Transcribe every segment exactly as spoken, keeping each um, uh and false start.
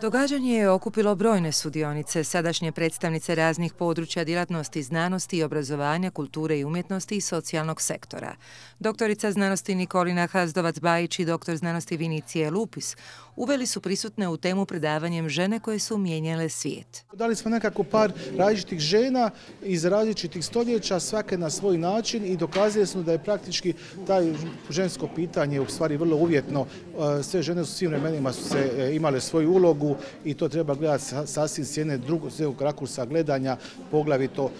Događanje je okupilo brojne sudionice, sadašnje predstavnice raznih područja djelatnosti znanosti i obrazovanja, kulture i umjetnosti i socijalnog sektora. Doktorica znanosti Nikolina Hazdovac-Bajić i doktor znanosti Vinicije Lupis uveli su prisutne u temu predavanjem žene koje su mijenjale svijet. Dali smo nekako par različitih žena iz različitih stoljeća, svake na svoj način, i dokazali smo da je praktički taj žensko pitanje u stvari vrlo uvjetno. Sve žene u svim vremenima su se imale svoju ulogu i to treba gledati sasvim s jedne drugog rakursa gledanja, poglavito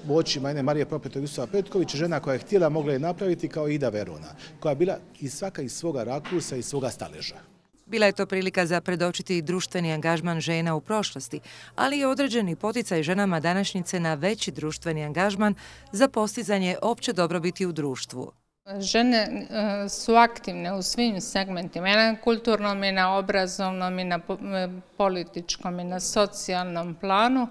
u očima jedne Marije Propetović Petković, žena koja je htjela, mogla je napraviti, kao Ida Verona, koja je bila i svaka iz svoga rakursa i svoga staleža. Bila je to prilika za predočiti društveni angažman žena u prošlosti, ali i određeni poticaj ženama današnjice na veći društveni angažman za postizanje opće dobrobiti u društvu. Žene su aktivne u svim segmentima, i na kulturnom, i na obrazovnom, i na političkom, i na socijalnom planu.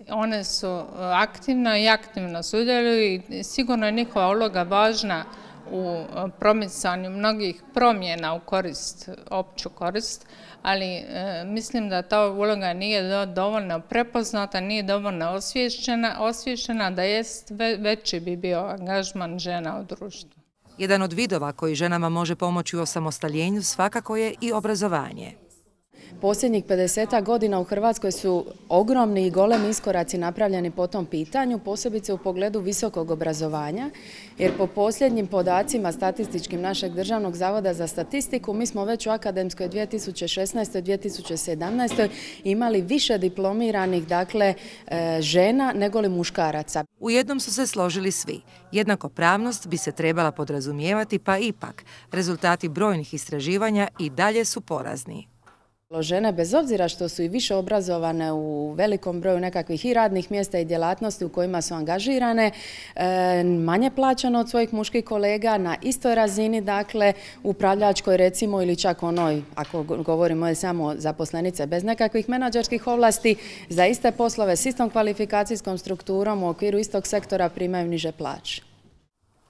One su aktivne i aktivno sudjeluju i sigurno je njihova uloga važna u promicanju mnogih promjena u korist, opću korist, ali e, mislim da ta uloga nije dovoljno prepoznata, nije dovoljno osviješćena, osviješćena, da jest veći bi bio angažman žena u društvu. Jedan od vidova koji ženama može pomoći u osamostaljenju svakako je i obrazovanje. Posljednjih pedesetak godina u Hrvatskoj su ogromni i golemi iskoraci napravljeni po tom pitanju, posebice u pogledu visokog obrazovanja, jer po posljednjim podacima statističkim našeg Državnog zavoda za statistiku mi smo već u akademskoj dvije tisuće šesnaestoj dvije tisuće sedamnaestoj imali više diplomiranih, dakle, žena nego li muškaraca. U jednom su se složili svi. Jednakopravnost bi se trebala podrazumijevati, pa ipak rezultati brojnih istraživanja i dalje su porazni. Žene, bez obzira što su i više obrazovane u velikom broju nekakvih i radnih mjesta i djelatnosti u kojima su angažirane, manje plaćano od svojih muških kolega, na istoj razini, dakle, upravljačkoj recimo, ili čak onoj, ako govorimo samo zaposlenice bez nekakvih menadžerskih ovlasti, za iste poslove s istom kvalifikacijskom strukturom u okviru istog sektora primaju niže plaće.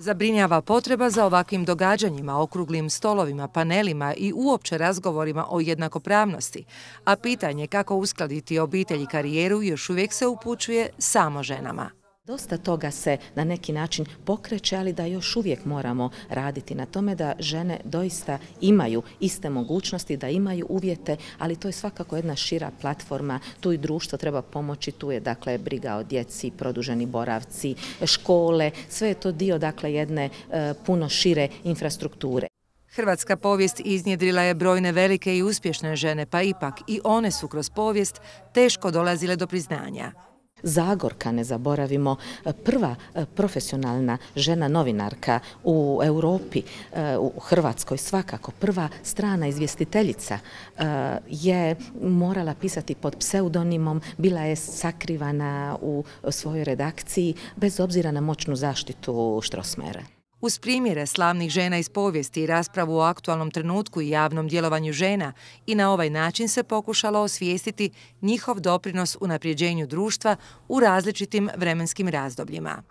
Zabrinjava potreba za ovakvim događanjima, okruglim stolovima, panelima i uopće razgovorima o jednakopravnosti, a pitanje kako uskladiti obitelj i karijeru još uvijek se upućuje samo ženama. Dosta toga se na neki način pokreće, ali da još uvijek moramo raditi na tome da žene doista imaju iste mogućnosti, da imaju uvjete, ali to je svakako jedna šira platforma. Tu i društvo treba pomoći, tu je dakle briga o djeci, produženi boravci, škole, sve je to dio dakle jedne e, puno šire infrastrukture. Hrvatska povijest iznjedrila je brojne velike i uspješne žene, pa ipak i one su kroz povijest teško dolazile do priznanja. Zagorka, ne zaboravimo, prva profesionalna žena novinarka u Europi, u Hrvatskoj svakako, prva strana izvjestiteljica je morala pisati pod pseudonimom, bila je sakrivana u svojoj redakciji bez obzira na moćnu zaštitu Strossmayera. Uz primjere slavnih žena iz povijesti i raspravu o aktualnom trenutku i javnom djelovanju žena, i na ovaj način se pokušalo osvijestiti njihov doprinos unapređenju društva u različitim vremenskim razdobljima.